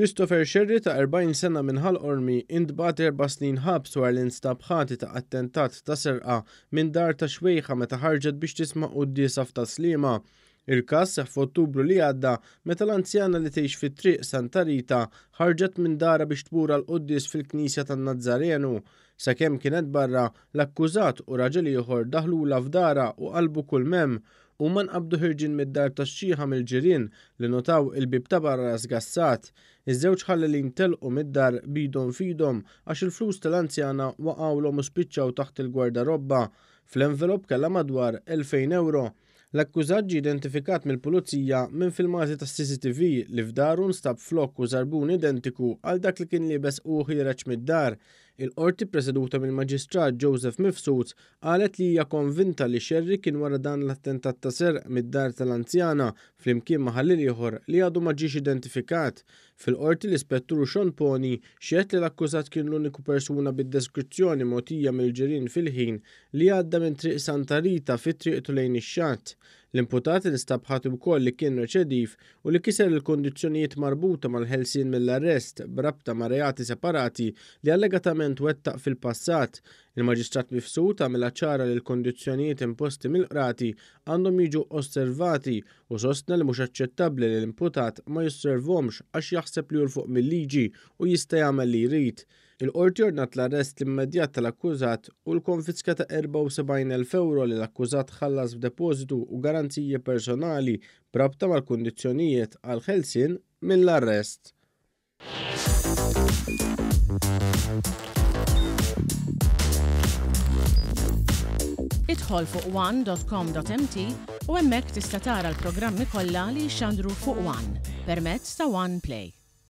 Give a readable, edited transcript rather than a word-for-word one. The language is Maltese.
Christopher Scerri ta' 40 sena minn Ħal Qormi intbagħat erba' snin ħabs wara li nstab ħati ta' attentat ta' serqa minn dar ta' xwejħa meta ħarġet biex tisma' quddiesa f'Tas-Sliema. Il-każ seħħ f'Ottubru li għadda meta l-anzjana li tgħix fi Triq Santa Rita ħarġet minn darha biex tmur għall-quddies fil-Knisja tan-Nazzarenu. Sakemm kienet barra, l-akkużat u raġel ieħor daħlulha f'darha u qalbu kull m'hemm. Huma nqabdu ħirġin mid-dar tax-xiħa mill-ġirien li notaw il-bieb ta' barra sgassat. Iż-żewġ ħallelin telqu mid-dar b'idhom f'idhom għax il-flus tal-anzjana waqgħulhom u spiċċaw taħt il-gwardarobba. Fl-envelop kellha madwar 2,000 ewro. L-akkużat ġie identifikat mill-Pulizija minn filmati tas-CCTV li f'daru nstab flokk u żarbun identiku għal dak li kien liebes hu ħiereġ mid-dar. Il-Qorti ppreseduta mill-Maġistrat Joseph Mifsud Qalet li hija konvinta li Scerri kien wara dan l-attentat ta' serq mid-dar tal-anzjana flimkien ma' ħalliel ieħor li għadu ma ġiex identifikat. Fil-Qorti l-Ispettur Sean Poni xehed li l-akkużat kien l-uniku persuna bid-deskrizzjoni mogħtija mill-ġirien fil-ħin li għadda minn Triq Santa Rita fi triqtu lejn ix-xatt. L-imputat instab ħati wkoll li kien reċediv u li kiser il-kundizzjonijiet marbuta mal-ħelsien mill-arrest b'rabta ma' reati separati li allegatament wettaq fil-passat. Il-Maġistrat Mifsud għamilha ċara li l-kundizzjonijiet imposti mill-qrati għandhom jiġu osservati u sostna li mhux aċċettabbli li l-imputat ma josservhomx għax jaħseb li hu 'l fuq mil-liġi u jista' jagħmel li jrid. Il-Qorti ordnat l-arrest immedjat tal-akkużat u l-konfiska ta' 74,000 ewro li l-akkużat ħallas f'depożitu u garanziji personali b'rabta mal-kundizzjonijiet għall-ħelsien mill-arrest. Idħol fuq one.com.mt u hemmhekk tista' tara l-programmi kollha li jixxandru fuq One permezz ta' One Play.